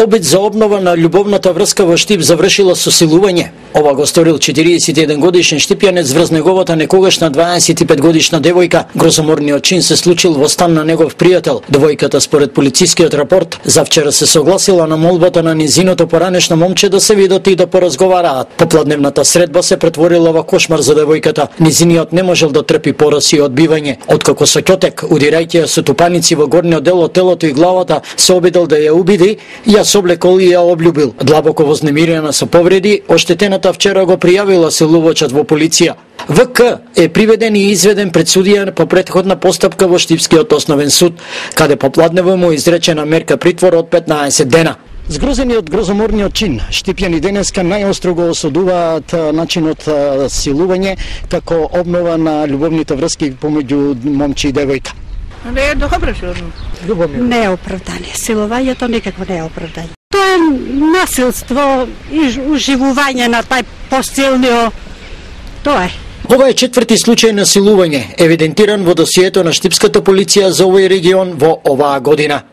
Обид за обнова на љубовната врска во Штип завршила со силување. Ова го сторил 41 годишен штипјанец врз неговата некогашна 25 годишна девојка. Грозоморниот чин се случил во стан на негов пријател. Девојката според полицискиот рапорт завчера се согласила на молбата на низиното поранешно момче да се видат и да поразговараат. Попладневната средба се претворила во кошмар за девојката. Низиниот не можел да трпи пораси и одбивање. Откако со ќотек, удирајќи ја со тупаници во горниот дел од телото и главата, се обидел да ја убиди, ја соблекол и ја облюбил. Длабоко вознемирена со повреди, оштетената вчера го пријавила силувачот во полиција. ВК е приведен и изведен пред судија по претходна постапка во Штипскиот основен суд, каде попладнево му изречена мерка притвор од 15 дена. Згрозени од грозоморниот чин, штипјани денеска најостро го осудуваат начинот силување како обнова на љубовните врски помеѓу момче и девојка. Не е добро што не е оправдание. Силувањето никако не е оправдание. Тоа е насилство и уживување на тај посилниот. Тоа е. Ова е четврти случај на силување, евидентиран во досието на Штипската полиција за овој регион во оваа година.